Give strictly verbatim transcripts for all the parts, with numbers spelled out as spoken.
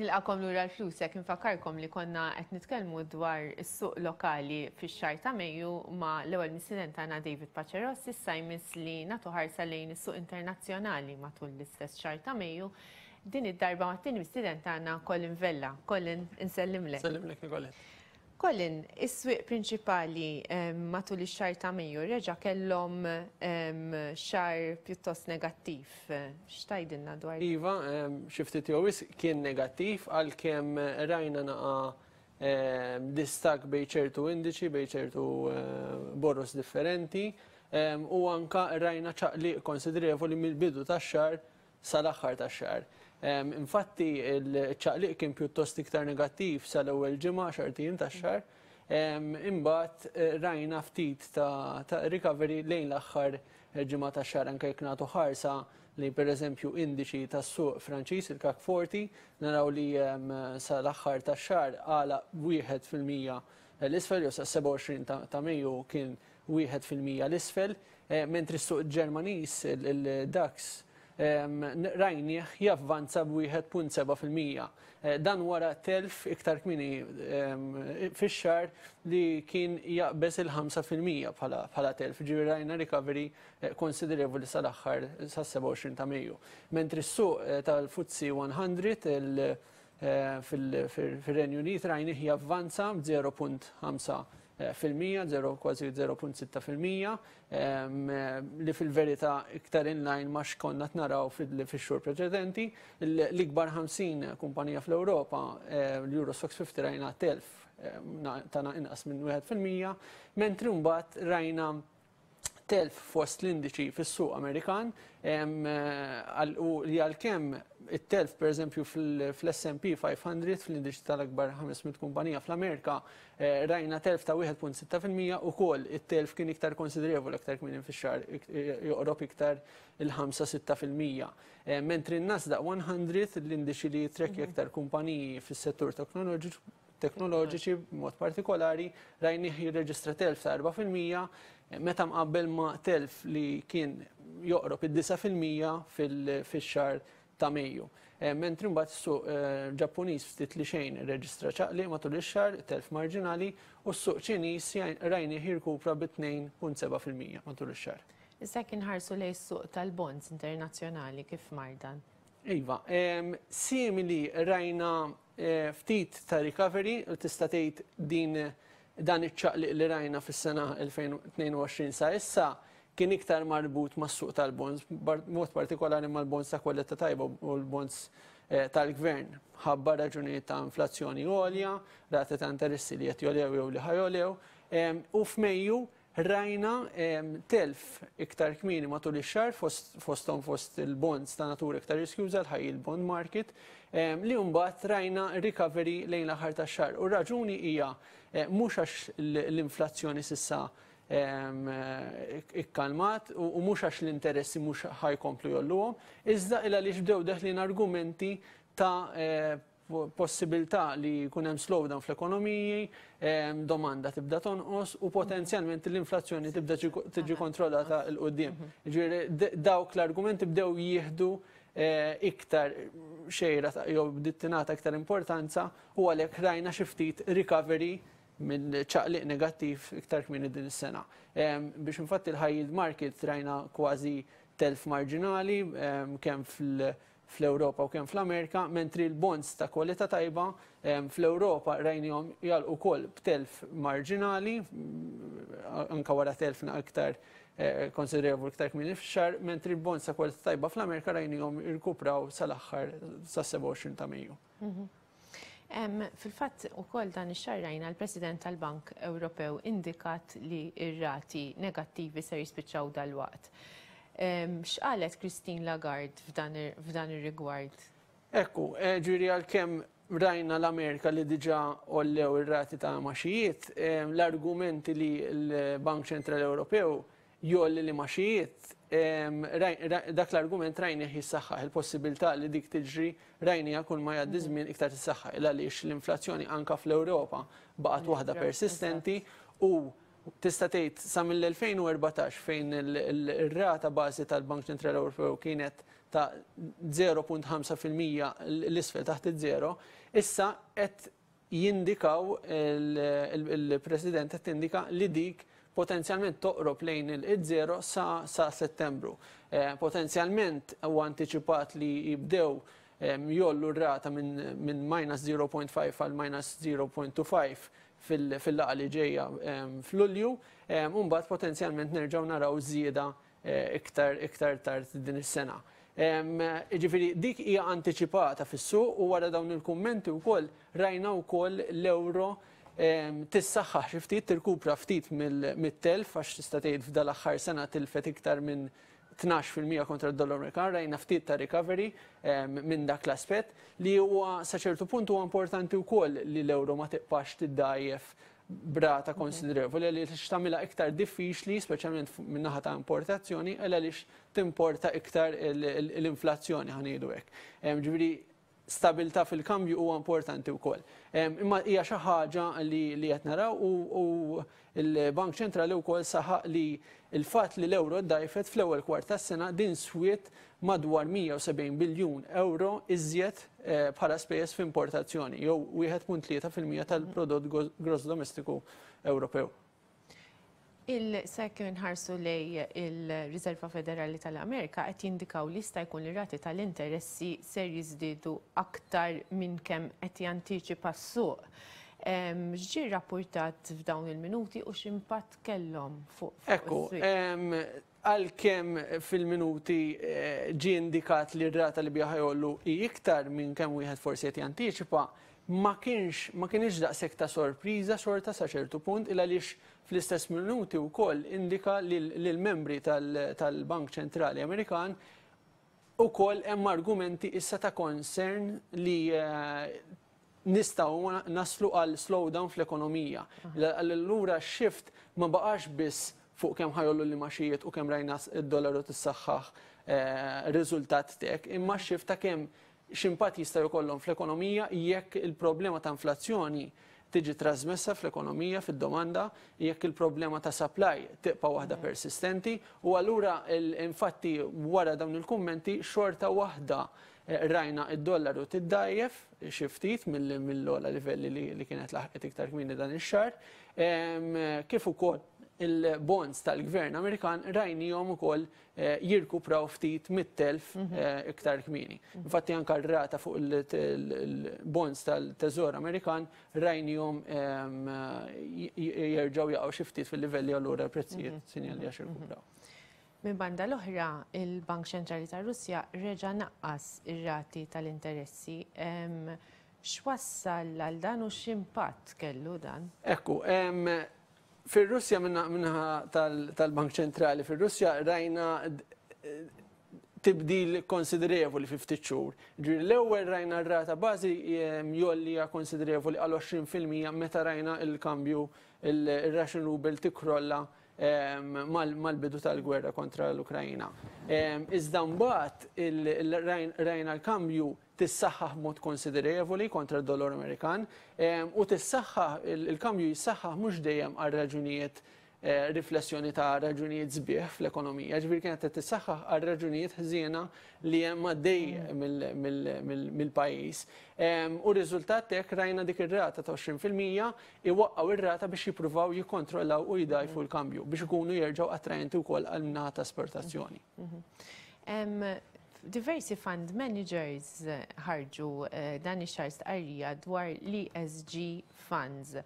Nilqagħkom lura għal Flusek. Infakkarkom li konna qed nitkellmu dwar is-suq lokali fix-xahar ta' Mejju ma' l-ewwel mistieden tagħna David Paceros. Issa jmiss li nagħtu ħarsa lejn is-suq internazzjonali matul l-istess xahar ta' Mejju. Din id-darba mat-tieni mistieden tagħna, Colin Vella. Colin, insellimlek. Sellimlek, Nicolette. Colin, is-swieq prinċipali matul ix-xahar ta' Mejju reġa' kellhom xahar pjuttost negattiv. X'tgħidilna dwar? Iva, xi ftit jew kien negattiv, għalkemm rajna naqa distakk bejn ċertu indiċi, bejn ċertu boroż differenti, u anka rajna ċaqliq konsiderevoli mill-bidu tax-xahar sal-aħħar tax-xahar. Infatti il-ċaqliq kien pjuttost iktar negattiv sal-ewwel ġimgħa, għaxart ijiem tax-xahar. Imbagħad eh, rajna ftit ta' recovery lejn l-aħħar ġimgħa tax-xahar, anke jekk nagħtu ħarsa li pereżempju indiċi tas-suq Franċiż, il-CAC forty, naraw li sal-aħħar tax-xahar għalaq wieħed fil-mija l-isfel, jew sa sebgħa u għoxrin ta' Mejju kien wieħed fil-mija l-isfel, eh, mentri s-suq Ġermaniż, il-DAX, rajnieh javvanza b'wieħed punt sebgħa fil-mija. Eh, dan wara telf iktar kmieni fix-xahar li kien jaqbeż il-ħamsa fil-mija bħala telf. Ġifieri rajna recovery eh, konsiderevoli sal-aħħar, sas-sebgħa u għoxrin ta' Mejju. Mentri s-suq eh, tal-F T S E mija fil-Renju Unit rajnieh javvanza b'żero punt ħamsa fil-mija, zero, kważi żero punt sitta fil-mija, li fil-verità iktar inline ma x'konna naraw fil-xhur preċedenti. L-ikbar ħamsin kumpanija fl-Ewropa, l-Euro Stoxx ħamsin, rajna telf ta' inqas minn wieħed fil-mija, mentri mbagħad rajna telf fost l-indiċi fis-suq Amerikan u li għalkemm it-telf per eżempju fl-S and P five hundred, fl-indiċi tal-akbar ħames mitt kumpanija fl-Amerika, eh, rajna telf ta' wieħed punt sitta fil-mija, u kol it-telf kien iktar konsiderevoli iktar kmieni fix-xahar, joqrob iktar il-ħamsa sitta fil-mija. Eh, mentri n-Nasdaq mija, l-indiċi li jitrekki iktar kumpaniji fis-settur teknoloġiċi teknoloġiċi b'mod partikolari, rajnih jirreġistra telf ta' erbgħa fil-mija meta mqabbel ma' telf li kien joqrob id-disgħa fil-mija fil-xahar ta' Mejju. Eh, mentri mbagħad is-suq eh, Ġappuniż ftit li xejn irreġistra ċaqli matul ix-xahar, telf marġinali, u s-suq Ċiniż rajnih jirkupra bi tnejn punt sebgħa fil-mija matul ix-xahar. Issa kien ħarsu lejn is-suq tal-bonds internazzjonali, kif mar dan? Iva, simili, rajna eh, ftit ta' recovery u tista' tgħid din dan iċ-ċaqliq li rajna fis-sena elfejn u tnejn u għoxrin sa issa kien iktar marbut mas-suq tal-bonds, mod partikolari mal-bonds ta' kwalità tajba u l-bonds eh, tal-gvern. Ħabba raġunijiet ta' inflazzjoni għolja, rati ta' interessi li qed jogħlew jew li ħa jogħlew. U f'Mejju rajna telf iktar kmieni matul ix-xahar fosthom fost il-bonds ta' natura iktar riskjuża, l-high yield bond market, li mbagħad rajna recovery lejn l-aħħar tax-xahar. U raġuni hija eh, mhux għax l-inflazzjoni s'issa ikkalmat u mhux għax l-interessi mhux ħa jkomplu jogħluhom, iżda illa li bdew deħlin argumenti ta' eh, possibilità li jkun hemm slowdown fl-ekonomiji, domanda tibda tonqos u potenzjalment l-inflazzjoni tibda tiġi kontrollata 'l quddiem. Ġifieri dawk l-argumenti bdew jieħdu eh, iktar xejra jew bdiet tingħata iktar importanza u għalhekk rajna xi ftit recovery minn ċaqliq negattiv iktar kmieni din is-sena. Biex infatti l-high yield market rajna kważi telf marġinali kemm fil- fl-Europa u kemm fl-Amerika, mentri l-bonds ta' kwalità tajba fl-Europa rajnihom jagħlqu wkoll b'telf marġinali, anka wara telf iktar eh, konsiderevoli iktar kmieni fix-xahar, mentri l-bonds ta' kwalità tajba fl-Amerika rajnihom irkupraw sal-aħħar, sa' sebgħa u għoxrin ta' Mejju. Mhm. Fil-fatt ukoll dan ix-xahar rajna l-President tal-Bank Ewropew indikat li ir-rati negattivi ser jispiċċaw dal-waqt. X'qalet Christine Lagarde f'dan ir-rigward? Ekku, eh, ġifieri għalkemm rajna l-Amerika li diġà għollew ir-rati ta' imgħaxijiet, l-argumenti li l-Bank Ċentrali Ewropew jgħolli l-imgħaxijiet, dak l-argument rajni jissaħħaħ, il-possibilità li dik tiġri rajni kull ma jgħaddi żmien iktar tissaħħaħ, għaliex l-inflazzjoni anka fl-Ewropa baqgħet waħda persistenti u Tista' tgħid sa mill-elfejn u erbatax, fejn il-rata bażi tal-Bank Ċentrali Ewropew kienet ta' żero punt ħamsa fil-mija l-isfel taħt iż-żero, issa qed jindikaw, il-President qed tindika li dik potenzjalment toqrob lejn il-zero sa, sa Settembru. Eh, potenzjalment huwa antiċipat li jibdew jgħollu r-rata minn min minus żero punt ħamsa għal minus żero punt tnejn ħamsa fil-laqgħa li ġejja f'Lulju, u mbagħad potenzjalment nerġgħu naraw żieda eh, iktar iktar tard din is-sena. Ġifieri dik hija antiċipata fis-suq u wara dawn il-kummenti wkoll rajna wkoll l-euro tissaħħaħ xi ftit, tirkupra ftit mit-telf, għax tista' tgħid f'dal-aħħar sena tilfet iktar minn tnax fil-mija kontra d-dollar Amerikan. Rajna ftit ta' recovery minn dak l-aspett li huwa sa ċertu punt huwa importanti wkoll li l-euro ma tibqax tiddajjef b'rata konsiderevoli, li tagħmilha iktar diffiċli, speċjalment min-naħa ta' importazzjoni, għaliex timporta iktar l-inflazzjoni, ħa ngħidu hekk. Ġifieri stabilità fil-kambju huwa importanti wkoll. Imma hija xi ħaġa li qed naraw u l-Bank Ċentrali wkoll saħaq li il-fatt li l-euro dajfet fl-ewwel kwart tas-sena, din swiet madwar mija u sebgħin biljun euro iżjed eh, bħala spejjeż f'importazzjoni, jew wieħed punt tlieta fil-mija tal-prodott gross domestiku Ewropew. Il-sekk nħarsu lejn il-Riserva Federali tal-Amerika, qed jindikaw li jista' jkun li rati tal-interessi ser jiżdiedu aktar minn kemm qed jantiċipa s-suq. X'ġie rapportat f'dawn il-minuti u x'impatt kellhom fuq Ekku, għalkemm fil-minuti eh, ġie indikat li r-rata li biha ħa jgħollu hi iktar minn kemm wieħed forsi qed jantiċipa, ma kienx ma kienx daqshekk ta' sorpriża xorta sa ċertu punt, il għaliex fl-istess minuti wkoll indika li l-membri tal-Bank Ċentrali Amerikan ukoll hemm argumenti issa ta' concern li eh, nistgħu naslu għal slowdown fl-ekonomija. Allura shift ma baqax biss fuq kemm ħa jgħollu l-imgħaxijiet u kemm rajna id-dollaru tissaħħaħ eh, riżultat tek, imma shift ta' kemm x'impatt jista' jkollhom fl-ekonomija jekk il-problema ta' inflazzjoni tiġi trasmessa fl-ekonomija, fid-domanda, jekk il-problema ta' supply tibqa' waħda persistenti. U allura infatti wara dawn il-kummenti xorta waħda eh, rajna id-dollaru tiddajjef xi ftit mill-ogħla livelli li kienet laħqet iktar kmieni dan ix-xahar. Kif ukoll il-bonds tal-gvern Amerikan rajnihom ukoll eh, jirkupraw ftit mit-telf mhm. eh, iktar kmieni. Infatti anka r-rata fuq il-bonds tal-Teżor Amerikan rajnihom jerġgħu jaqgħu xi ftit fil-livelli, allura prezzijiet mhm. sinjali għax irkupraw. Minn banda l-oħra, il-Bank Ċentrali ta' Russja reġa' naqqas ir-rati tal-interessi. X'wassal għal dan u x'impatt kellu dan? Ekku, fil-Russja, min-naħa tal-Bank Ċentrali, fil-Russja rajna tibdil konsiderevoli fi ftit xhur. Ġifieri l-ewwel rajna r-rata bażi jgħollija konsiderevoli għal għoxrin fil-mija meta rajna il-kambju, il-Russian ruble tikkrolla mal-bidu tal-gwerra kontra l-Ukrajina. Iżda mbagħad rajna l-kambju tissaħħaħ mod konsiderevoli kontra d-dollar Amerikan u tissaħħaħ, il-kambju jissaħħaħ mhux dejjem għal raġunijiet eh, riflessjoni ta' raġunijiet sbieħ fl-ekonomija, ġifieri kienet qed tissaħħaħ għal raġunijiet ħżiena li hemm għaddej mill-pajjiż. U riżultat hekk rajna dik ir-rata ta' għoxrin fil-mija iwaqqgħu ir-rata biex jippruvaw jikkontrollaw u jdajfu l-kambju biex ikunu jerġgħu attrajenti wkoll għal naħa ta' esportazzjoni. Diversi fund managers ħarġu eh, dan ix-xahar stqarrija dwar l-E S G funds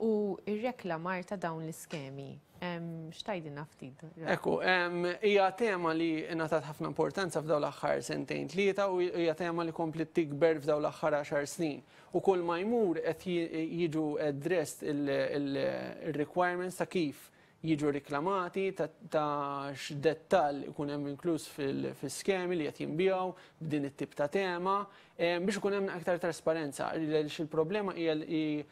u ir-reklamar ta' dawn l-iskemi. X'tgħidilna ftit? Ekku, hija tema li ngħatat ħafna importanza f'dawn l-aħħar sentejn tlieta u hija tema li komplet tikber f'dawn l-aħħar għaxar snin. U kull ma jmur qed jiġu addressed il-requirements ta' kif jiġu reklamati, ta' x'dettall ikun hemm inkluż fil-skemi li qed jinbiegħu b'din it-tip ta' tema biex ikun hemm aktar trasparenza. Għaliex il-problema hija li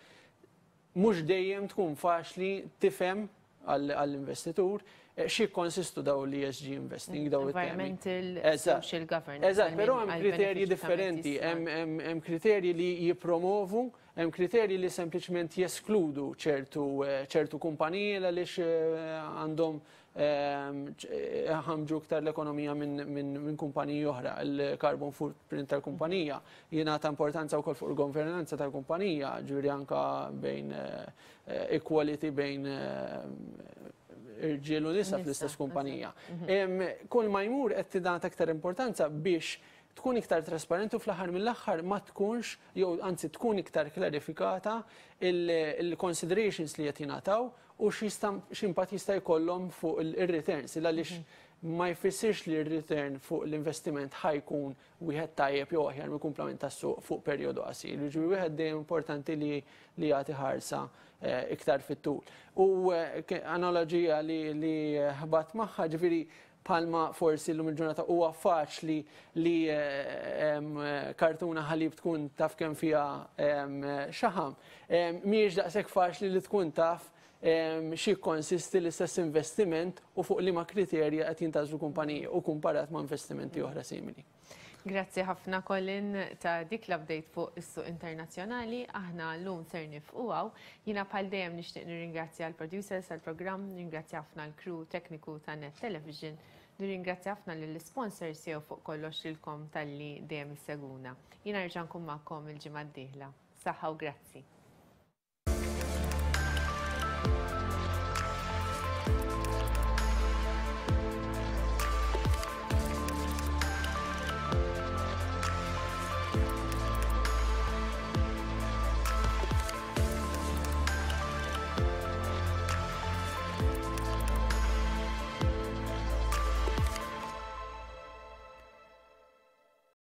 mhux dejjem tkun faċli tifhem għall-investitur eh, xi konsistu daw l-E S G investing, daw it-temi. Environmental, social governance. Eżatt, però hemm kriterji differenti, hemm kriterji li jipromovu, Hemm kriterji li sempliċement jeskludu ċertu eh, ċertu kumpaniji għaliex eh, għandhom ehm, ħamġu iktar l-ekonomija minn min, min kumpaniji oħra. Il-carbon footprint tal-kumpanija jingħata importanza wkoll fuq il-governanza tal-kumpanija, ġifieri anka bejn eh, equality bejn irġiel u nisa fl-istess kumpanija. Mhm. Kull ma jmur qed tingħata aktar importanza biex tkun iktar trasparenti u fl-aħħar mill-aħħar ma tkunx, jew anzi tkun iktar klarifikata il-considerations li qed jingħataw u x'impatt jista' jkollhom fuq il-returns. Għaliex mhm. ma jfissirx li r-return fuq l-investiment ħa jkun wieħed tajjeb jew aħjar mill-kumplament tas-suq fuq perjodu qasir. Ġifieri wieħed dejjem importanti li li jagħti ħarsa eh, iktar fit-tul. U eh, analogija li li ħbat magħha, ġifieri bħalma forsi l-lum il-ġurnata huwa faċli li eh, kartuna ħalib tkun taf kemm fiha xaħam. Mhijiex daqshekk faċli li tkun taf xi konsisti l-istess investiment u fuq liema kriterja qed jintgħażlu kumpaniji u kumparat ma' investimenti oħra simili. Grazzi ħafna, Colin, ta' dik l-update fuq is-suq internazzjonali. Aħna llum ser nieqfu hawn. Jiena bħal dejjem nixtieq nirringrazzja l-producers tal-programm, nirringrazzja ħafna l-crew tekniku ta' Net Television, nirringrazzja ħafna lill-sponsors jew fuq kollox lilkom talli dejjem issegwuna. Jiena nerġa' nkun magħkom il-ġimgħa d-dieħla. Saħħa u grazzi.